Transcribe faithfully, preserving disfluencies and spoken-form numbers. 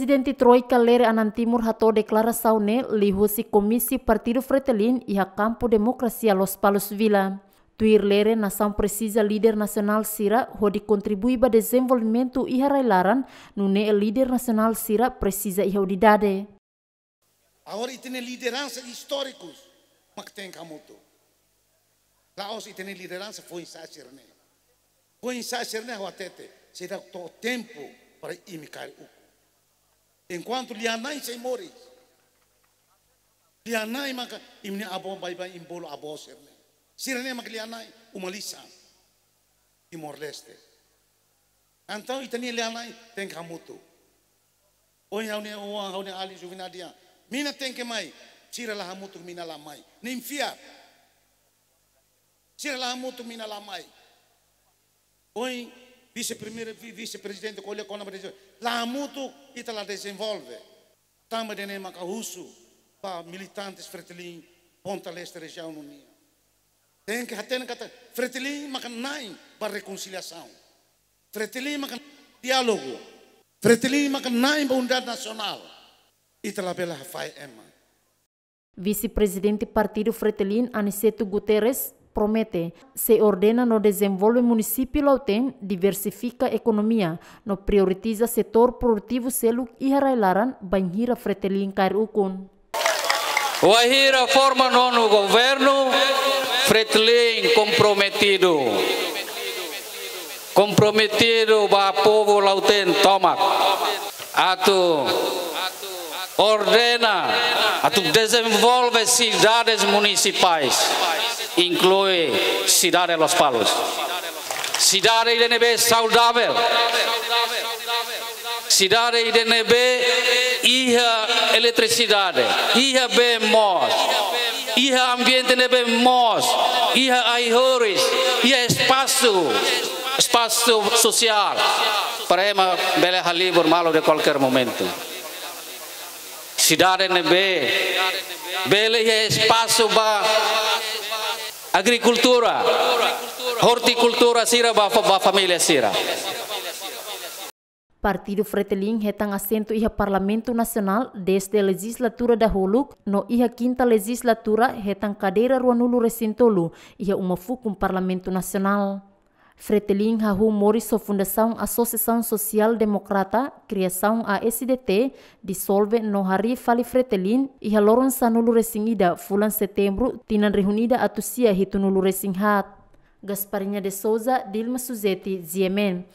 Prezidente Troika Lere Anan Timur hato'o deklarasaun ne'e liuhusi Komísiu Partidu Fretilin iha Kampu Demokrasia Lospalos Vila. Tuir Lere, nasaun presiza líder nasionál sira hodi kontribui ba dezenvolvimentu iha rai-laran, nune'e líder nasionál sira presiza iha unidade. Agora ita-nia lideransa istórikus mak tenke hamutuk. La'ós ita-nia lideransa foin-sa'e sira-ne'e. Foin-sa'e sira-ne'e ha'u hatete, seidauk to'o tempu para imi kaer ukun. Enkuantu lia-na'in sei moris, lia-na'in maka imi-nia avó baibain imi bolu avó sira-ne'e. Sira-ne'e maka lia-na'in uma lisan Timor-Leste. Entaun ita-nia lia-na'in tenke hamutuk. Ohin ha'u-nia oan, ha'u-nia alin Juvenal dehan, mina tenke mai, sira la hamutuk mina la mai. Nia fiar. Sira la hamutuk mina la mai. Ohin vise-primeiru, vi-, vise-prezidente ko'alia kona-ba dezenvolve. La hamutuk ita la dezenvolve. Tanba ida-ne'e maka husu ba militantes Fretilin, Ponta Leste rejiaun ninian. Tenke hatene katak Fretilin maka na'in ba rekonsiliasaun. Fretilin maka diálogu. Fretilin maka na'in ba unidade nasionál. Ita labele hafahe ema. Vise-Prezidente Partidu Fretilin Aniceto Guterres promete, sei ordena no dezenvolve munisípiu Lautém, diversifika ekonomia, no prioritiza setór produtivu seluk iha rai-laran bainhira Fretilin kaer ukun. Wainhira forma nonu governu, Fretilin komprometidu. Komprometidu ba povu Lautém tomak. Atu ordena, atu dezenvolve sidades munisipais, inklui sidade Lospalos. Sidade ida ne'ebé saudavel. Sidade ida ne'ebé iha eletrisidade, iha bee moos, iha ambiente ne'ebé moos, iha ai-horis, iha espasu, espasu sosiál, para ema bele halibur malu de kualkér momentu. Sidade ne'ebé bele iha espasu ba agrikultura, ortikultura sira ba, ba família sira. Partidu Fretilin hetan asentu iha Parlamentu Nasionál dezde lejizlatura dahuluk, no iha kinta lejizlatura hetan kadeira ruanulu-resin-tolu iha uma fukun Parlamentu Nasionál. Fretilin hahú moris ho fundasaun Asosiasaun Sosiál Demokrata, kriasaun A S D T, disolve no harii fali Fretilin iha loron sanulu-resin-ida fulan Setembru tinan rihun ida atus sia hitunulu-resin-haat. Gasparinha de Souza, Dilma Suzeti, G M N.